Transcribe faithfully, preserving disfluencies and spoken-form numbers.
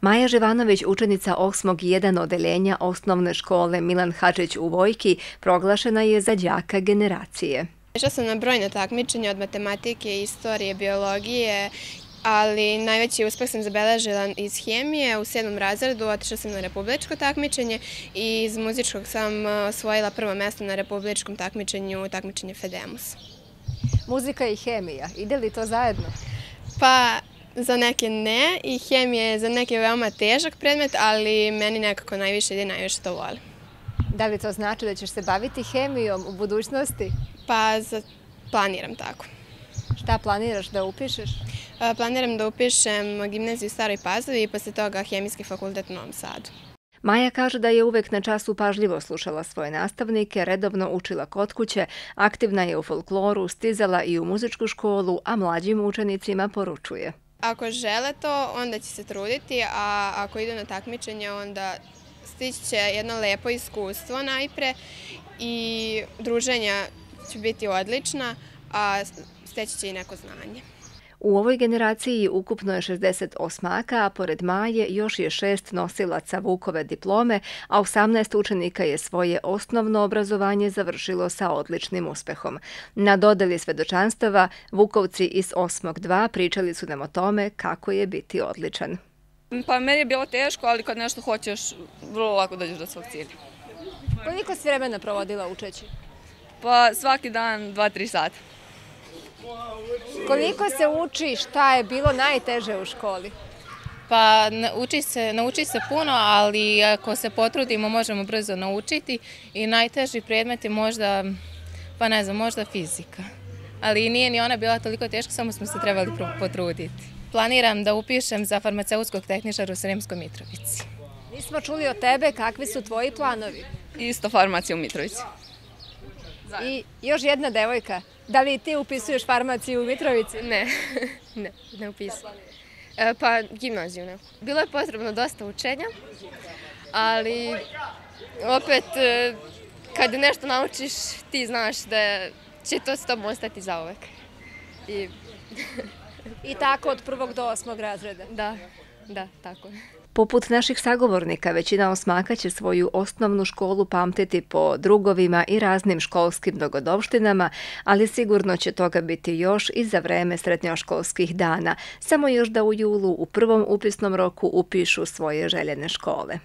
Maja Živanović, učenica osmog jedan odeljenja osnovne škole Milan Hadžić u Vojki, proglašena je za đaka generacije. Išla sam na brojna takmičenja od matematike, istorije, biologije, ali najveći uspeh sam zabeležila iz hemije. U sedmom razredu otišla sam na republičko takmičenje i iz muzičkog sam osvojila prvo mesto na republičkom takmičenju, takmičenje Fedemus. Muzika i hemija, ide li to zajedno? Pa za neke ne i hemija je za neke veoma težak predmet, ali meni nekako najviše ide, najviše to volim. Da li to znači da ćeš se baviti hemijom u budućnosti? Pa planiram tako. Šta planiraš da upišeš? Planiram da upišem gimnaziju u Staroj Pazovi i posle toga hemijski fakultet u Novom Sadu. Maja kaže da je uvek na času pažljivo slušala svoje nastavnike, redovno učila kod kuće, aktivna je u folkloru, stizala i u muzičku školu, a mlađim učenicima poručuje. Ako žele to, onda će se truditi, a ako idu na takmičenje, onda stići će jedno lepo iskustvo najpre i druženja će biti odlična, a steći će i neko znanje. U ovoj generaciji ukupno je šezdeset osmaka, a pored Maje još je šest nosilaca Vukove diplome, a osamnaest učenika je svoje osnovno obrazovanje završilo sa odličnim uspehom. Na dodeli svedočanstava Vukovci iz osmog dva pričali su nam o tome kako je biti odličan. Pa meni je bilo teško, ali kad nešto hoćeš, vrlo lako dođeš do svog cilja. Koliko si vremena provodila učeći? Pa svaki dan dva do tri sata. Koliko se uči, šta je bilo najteže u školi? Pa nauči se, nauči se puno, ali ako se potrudimo možemo brzo naučiti i najteži predmet je možda, pa ne znam, možda fizika. Ali nije ni ona bila toliko teška, samo smo se trebali potruditi. Planiram da upišem za farmaceutskog tehničara u Sremskoj Mitrovici. Nismo čuli od tebe kakvi su tvoji planovi? Isto farmacija u Mitrovici. I još jedna devojka. Da li ti upisuješ farmaciju u Mitrovici? Ne, ne, ne upisujem. Pa gimnaziju ne. Bilo je potrebno dosta učenja, ali opet kad nešto naučiš ti znaš da će to s tobom ostati zauvek. I, I tako od prvog do osmog razreda? Da, da, tako. Poput naših sagovornika, većina osmaka će svoju osnovnu školu pamtiti po drugovima i raznim školskim dogodovštinama, ali sigurno će toga biti još i za vreme srednjoškolskih dana, samo još da u julu u prvom upisnom roku upišu svoje željene škole.